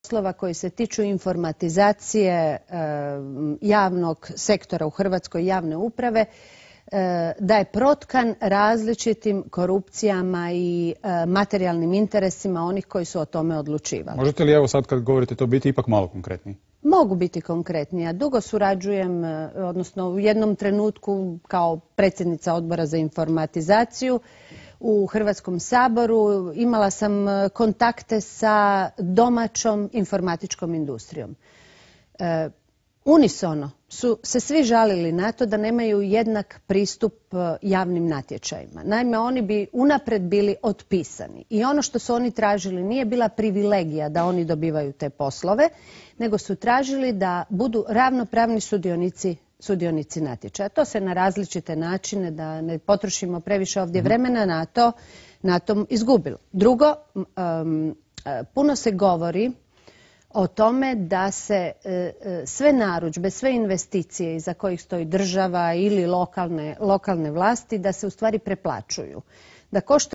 poslova koji se tiču informatizacije javnog sektora u Hrvatskoj, javne uprave, da je protkan različitim korupcijama i materijalnim interesima onih koji su o tome odlučivali. Možete li evo sad kad govorite to biti ipak malo konkretniji? Mogu biti konkretnija. Dugo surađujem, odnosno u jednom trenutku kao predsjednica Odbora za informatizaciju u Hrvatskom saboru imala sam kontakte sa domaćom informatičkom industrijom. Unisono su se svi žalili na to da nemaju jednak pristup javnim natječajima. Naime, oni bi unaprijed bili otpisani i ono što su oni tražili nije bila privilegija da oni dobivaju te poslove, nego su tražili da budu ravnopravni sudionici natječaja. To se na različite načine, da ne potrošimo previše ovdje vremena na tom izgubilo. Drugo, puno se govori o tome da se sve narudžbe, sve investicije iza kojih stoji država ili lokalne vlasti, da se u stvari preplaćuju. Da košta